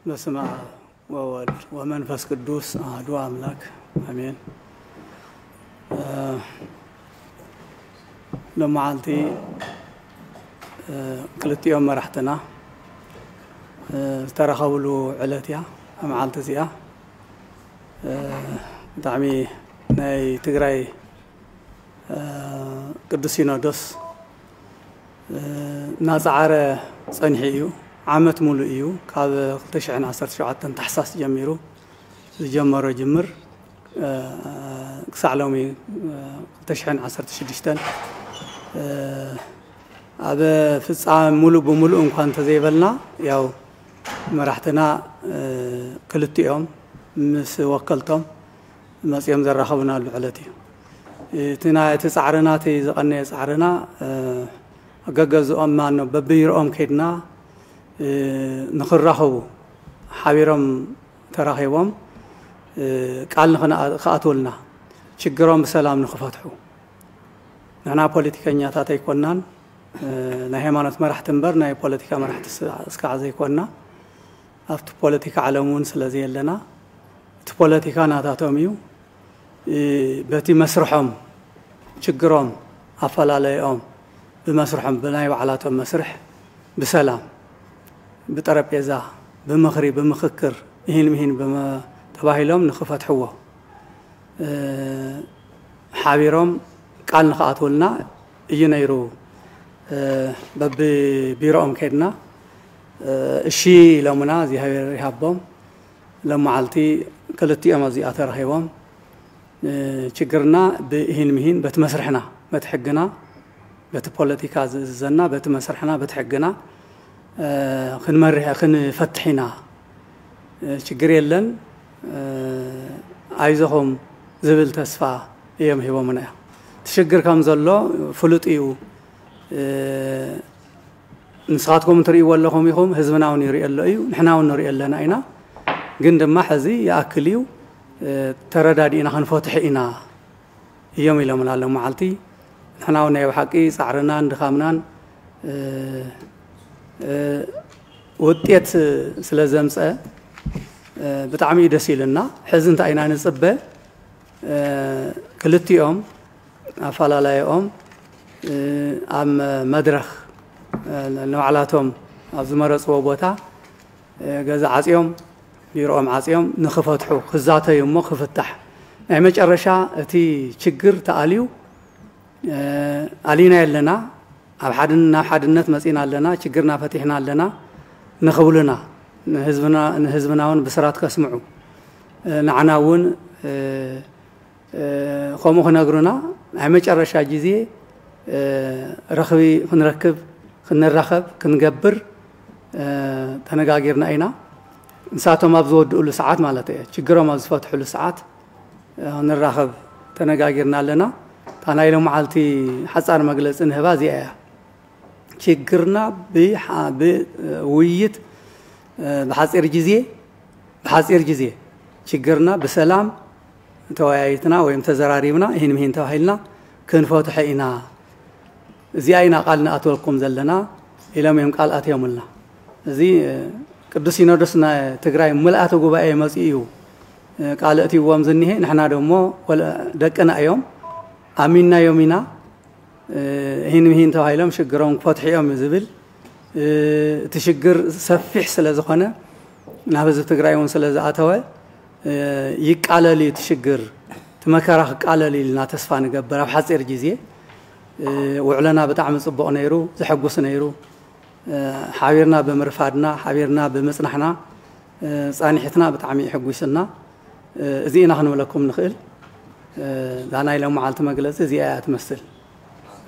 በስመ አብ ወወልድ ወመንፈስ ቅዱስ አሐዱ አምላክ አሜን። እ፣ ሎመዓልቲ፣ እ፣ ክልቲኦም መራሕትና፣ እ፣ ዝተራኸብሉ ዕለት እያ፣ መዓልቲ እዚኣ። እ፣ ብጣዕሚ ናይ ትግራይ ቅዱስ ሲኖዶስ እናፀዓረ ፀኒሑ እዩ። ዓመት ሙሉእ እዩ። ካብ ክልተ ሽሕን ዓሰርተ ሸውዓተን ታሕሳስ ጀሚሩ ዝጀመሮ ጅምር ክሳዕ ሎሚ ክልተ ሽሕን ዓሰርተ ሽዱሽተን ኣብ ፍፃመ ሙሉእ ብሙሉእ እንኳ እንተዘይበልና፣ ያው መራሕትና ክልቲኦም ምስ ወከልቶም መፂኦም ዘራኸቡናሉ ዕለት እዩ። እቲ ናይ፣ እቲ ፃዕርና፣ እቲ ዝቐነየ ፃዕርና፣ እ፣ ገገዝኦም ማኖ በብቢሮኦም ከይድና፣ እ፣ ንኽራኸቡ ሓቢሮም ተራኺቦም፣ እ፣ ቃል ንኽንኣ-፣ ክኣትውልና፣ ችግሮም ብሰላም ንኽፈትሑ። ንሕና ፖለቲከኛታት ኣይኮናን፣ እ፣ ናይ ሃይማኖት መራሕቲ እምበር ናይ ፖለቲካ መራሕቲ ስ-፣ እስካዕ ዘይኮና። ኣብቲ ፖለቲካ ዓለም እውን ስለ ዘየለና፣ እቲ ፖለቲካ ናታቶም እዩ። እ፣ በቲ መስርሖም፣ ችግሮም፣ ኣፈላለዮም ብመስርሖም፣ ብናይ ባዕላቶም መስርሕ፣ ብሰላም፣ ብጠረጴዛ፣ ብምኽሪ፣ ብምኽክር፣ እሂን ምሂን ብመ-፣ ተባሂሎም ንኽፈትሕዎ፣ እ፣ ሓቢሮም ቃል ንኽኣትውልና እዩ ነይሩ። እ፣ በብቢሮኦም ከይድና፣ እ፣ እሺ ኢሎምና፣ እግዚኣብሔር ይሃቦም። ሎም መዓልቲ ክልቲኦም ኣብዚኣ ተረኺቦም፣ እ፣ ችግርና ብእሂን ምሂን በቲ መስርሕና፣ በቲ ሕግና፣ በቲ ፖለቲካ ዝእዝዘና፣ በቲ መስርሕና፣ በቲ ሕግና፣ እ፣ ክንመርሕ፣ ክንፈትሕ ኢና። እ፣ ችግር የለን፣ እ፣ ኣይዞኹም ዝብል ተስፋ እዮም ሂቦምና እዮም። እቲ ሽግር ከም ዘሎ ፍሉጥ እዩ። እ፣ ንስኻትኩም ትርእይዎ ኣለኹም ኢኹም፣ ህዝብና እውን ይርእዮ ኣሎ እዩ፣ ንሕና እውን ንርእዮ ኣለና ኢና። ግን ድማ ሕዚ ይኣክል እዩ፣ እ፣ ተረዳዲእና ክንፈትሖ ኢና እዮም ኢሎምና ሎም መዓልቲ። ንሕና እውን ናይ ብሓቂ ጻዕርናን ድኻምናን፣ እ፣ እ፣ ውጤት ስለ ዘምጸ፣ እ፣ ብጣዕሚ እዩ ደስ ኢሉና። ሕዚ እንታይ ኢና ንጽበ? እ፣ ክልቲኦም ኣፈላላይኦም፣ እ፣ ኣብ መድረኽ፣ እ፣ ንባዕላቶም ኣብ ዝመረጽዎ ቦታ፣ እ፣ ገዛ ዓጽዮም፣ ቢሮኦም ዓጽዮም ንኽፈትሑ፣ ክዛተዩ እሞ ክፍታሕ። ናይ መጨረሻ እቲ ችግር ተኣልዩ፣ እ፣ ኣሊና የለና፣ ኣብ ሓድን-፣ ናብ ሓድነት መጺና ኣለና፣ ችግርና ፈቲሕና ኣለና ንኽብሉና፣ ንህዝብና፣ ንህዝብና እውን ብስራት ከስምዑ፣ እ፣ ንዓና እውን፣ እ፣ እ፣ ከምኡ ክነግሩና፣ ናይ መጨረሻ ግዜ፣ እ፣ ረኽቢ ክንረክብ፣ ክንራኸብ፣ ክንገብር፣ እ፣ ተነጋጊርና ኢና። ንሳቶም ኣብ ዝወድእሉ ሰዓት ማለት እየ፣ ችግሮም ኣብ ዝፈትሕሉ ሰዓት፣ እ፣ ንራኸብ ተነጋጊርና ኣለና። እታ ናይ ሎም መዓልቲ ሓጻር መግለጺ ንህባ እዚኣ እያ። ችግርና ብሓ-፣ ብውይይት፣ እ፣ ብሓጺር ግዜ፣ ብሓጺር ግዜ ችግርና ብሰላም ተወያይትና ወይም ተዘራሪብና፣ ይህን ምሂን ተባሂልና ክንፈትሖ ኢና። እዚኣ ኢና ቃል ንኣትወልኩም ዘለና ኢሎም እዮም ቃል ኣትዮምልና። እዚ፣ እ፣ ቅዱስ ሲኖዶስ ናይ ትግራይ ምልኣተ ጉባኤ መፂኡ እዩ፣ እ፣ ቃል እትይዎም ዝኒሄ። ንሕና ደሞ ወለ-፣ ደቅና እዮም፣ ኣሚንናዮም ኢና። እ፣ ሂን ምሂን ተባሂሎም ሽግሮም ክፈትሑ እዮም ዝብል፣ እ፣ እቲ ሽግር ሰፊሕ ስለ ዝኾነ፣ ናብ ህዝቢ ትግራይ እውን ስለ ዝኣተወ፣ እ፣ ይቃለል እዩ እቲ ሽግር፣ እቲ መከራ ክቃለል እዩ ኢልና ተስፋ ንገብር። ኣብ ሓፂር ግዜ፣ እ፣ ውዕሎና ብጣዕሚ ፅቡቕ ነይሩ፣ ዘሐጉስ ነይሩ። እ፣ ሓቢርና ብምርፋድና፣ ሓቢርና ብምፅናሕና፣ እ፣ ፃኒሕትና ብጣዕሚ የሐጒስና። እ፣ እዚ ኢና ክንብለኩም ንኽእል። እ፣ እዛ ናይ ሎም መዓልቲ መግለፂ እዚኣ እያ ትመስል።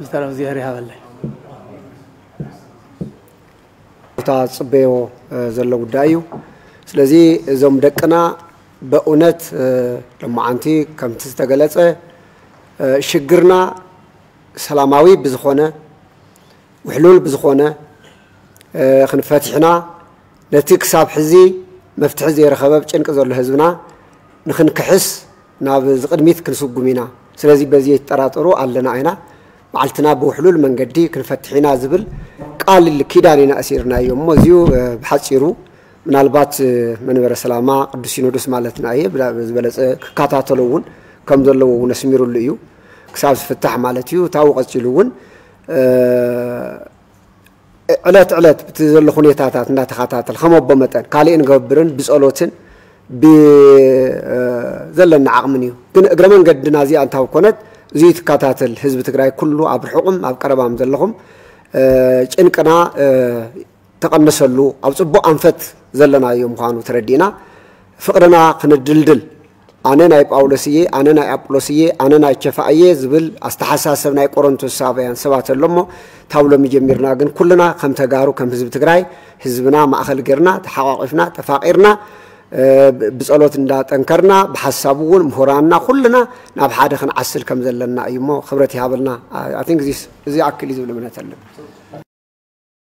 ዝተረፈ እግዚኣብሔር ይሃበለይ። ቦታ ዝፅበዮ፣ እ፣ ዘሎ ጉዳይ እዩ። ስለዚ እዞም ደቅና በእውነት፣ እ፣ ሎማዓንቲ ከምቲ ዝተገለፀ፣ እ፣ ሽግርና ሰላማዊ ብዝኾነ፣ ውሕሉል ብዝኾነ፣ ክንፈትሕና ነቲ ክሳብ ሕዚ መፍትሒ ዘይረኸበ ብ ጭንቂ ዘሎ ህዝብና ንክንክሕስ ናብ ዝቕድሚት ክንስጉም ኢና። ስለዚ በዚ የትጠራጠሩ ኣለና ኢና። ባዕልትና ብውሕሉል መንገዲ ክንፈትሕ ኢና ዝብል ቃል ኪዳን ኢና እሲርናዮ። እሞ እዚኡ ብሓፂሩ ምናልባት መንበረ ሰላማ ቅዱስ ሲኖዶስ ማለትና እየ ዝበለፀ ክከታተሎ እውን ከም ዘለዎ እውን ኣስሚሩሉ እዩ። ክሳብ ዝፍታሕ ማለት እዩ። ታው ቀፂሉ እውን ዕለት ዕለት ብቲ ዘሎ ሁኔታታት እንዳተኸታተል ከም ኣቦ መጠን ካልእ ንገብርን ብጸሎትን ብዘለና ዓቕምን እዩ። ግን እግረ መንገድና እዚኣ እንታብ ኮነት እዚ ትከታተል ህዝቢ ትግራይ ኩሉ ኣብ ርሑቕም ኣብ ቀረባም ዘለኹም ጭንቅና ተቐንሰሉ ኣብ ጽቡቕ ኣንፈት ዘለናዮ ምዃኑ ተረዲእና ፍቕርና ክንድልድል ኣነ ናይ ጳውሎስ እየ ኣነ ናይ ኣጵሎስ እየ ኣነ ናይ ቸፋ እየ ዝብል ኣስተሓሳሰብ ናይ ቆሮንቶሳውያን ሰባት ኣሎ እሞ ታብ ሎሚ ጀሚርና ግን ኩልና ከም ተጋሩ ከም ህዝቢ ትግራይ ህዝብና ማእኸል ጌርና ተሓቋቂፍና ተፋቂርና ብፀሎት እንዳጠንከርና ብሓሳብ እውን ምሁራንና ኩልና ናብ ሓደ ክንዓስል ከም ዘለና እዩ እሞ ክብረት ይሃበልና። I think this እዚ ኣክል እዩ ዝብል እምነት ኣለና።